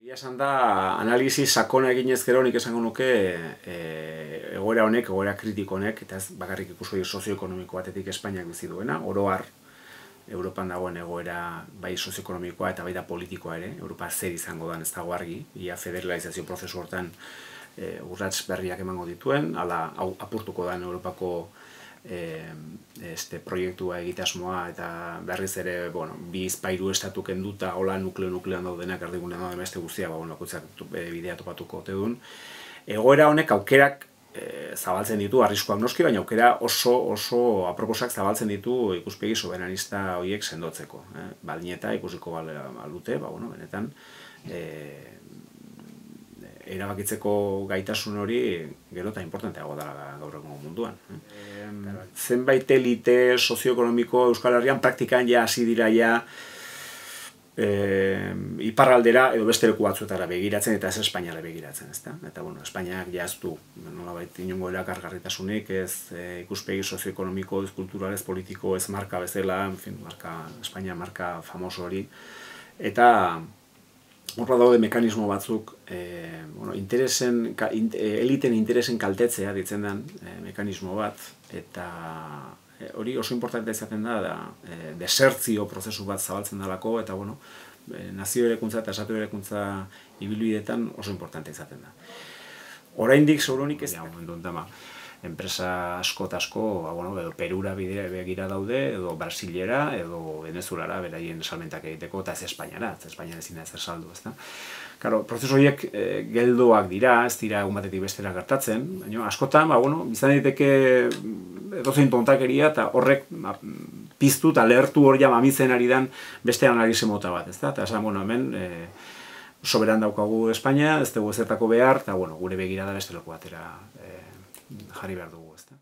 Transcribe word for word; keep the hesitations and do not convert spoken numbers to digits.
Egia esan da, analisi sakona eginez gero nik esango nuke e, egoera honek, egoera kritiko honek, eta ez bakarrik ikuspegi sozioekonomiko batetik Espainiak bizi duena, oro har, Europan dagoen egoera bai sozioekonomikoa eta bai da politikoa ere, Europa zer izango den ez dago argi, ia federalizazio prozesu hortan e, urrats berriak emango dituen, ala hau apurtuko den Europako e, este proiektua egitasmoa eta berriz ere, bueno, bi bizpahiru estatu kenduta, hola nukleo-nukleoan daudenak erdigunean dauden beste guztia, ba, bueno, bidea topatuko ote duen. Egoera honek aukerak e, zabaltzen ditu, arriskuak noski, baina aukera oso oso aproposak zabaltzen ditu ikuspegi soberanista horiek sendotzeko. Eh? Balnieta ikusiko balute, ba, bueno, benetan, e, erabakitzeko gaitasun hori gero eta importanteago dela gaur egun munduan. Eh? Zenbait elite sozioekonomiko Euskal Herrian praktikan ja hasi dira ja e, iparraldera edo beste leku batzuetara begiratzen eta ez Espainiara begiratzen, ezta? Eta bueno, Espainiak ja ez du nolabait inongo erakargarritasunik, ez e, ikuspegi sozioekonomiko, ez kultural, ez politiko, ez marka bezala, en fin, marka, Espainia marka famoso hori. Eta horra daude mekanismo batzuk, e, bueno, interesen, ka, in, eliten interesen kaltetzea ditzen den e, mekanismo bat, eta e, hori oso importante izaten da, da e, desertzio prozesu bat zabaltzen dalako, eta bueno, e, nazio erekuntza eta esatu erekuntza ibilbidetan oso importante izaten da. Oraindik segurunik ez da, momentu enten, enpresa asko eta asko, ba, bueno, edo Perura begira daude, edo Brasilera, edo Venezuelara beraien salmentak egiteko, eta ez Espainiara, ez Espainiara ezin da ezer saldu, ezta? Claro, prozesu horiek e, geldoak dira, ez dira egun batetik bestera gertatzen, baina askotan, ba, bueno, izan daiteke edozein tontakeria, eta horrek ba, piztu eta lehertu hor ja mamitzen ari den beste analize mota bat, ezta? Eta esan, bueno, hemen e, soberan daukagu Espainia, ez dugu ezertako behar, eta bueno, gure begirada beste leku batera e, jarri behar dugu, ezta?